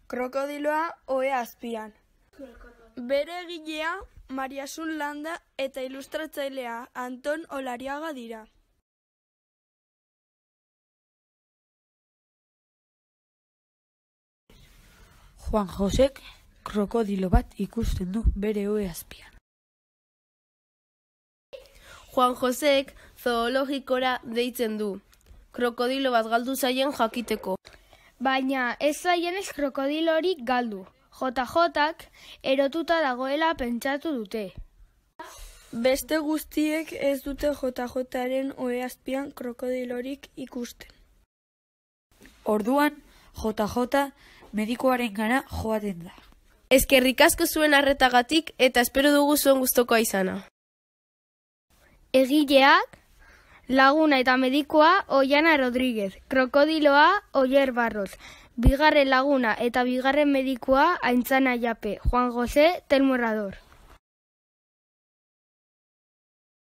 Krokodiloa ohe azpian. Bere egilea Mariasun Landa eta ilustratzailea Anton Olariaga dira. Juan Josek krokodilo bat ikusten du bere ohe azpian. Juan Josek zoologikora deitzen du, krokodilo bat galdu zaien jakiteko. Baina ez zaienez krokodilorik galdu. JJk erotuta dagoela pentsatu dute. Beste guztiek ez dute JJren ohe azpian krokodilorik ikusten. Orduan, JJ medikuarengana joaten da. Eskerrik asko zuen arretagatik eta espero dugu zuen gustokoa izana. Egileak, laguna eta medikua Oiana Rodríguez, krokodiloa Oier Barros, bigarren laguna eta bigarren medikua Aintzana Jape, Juan José Telmo Herrador.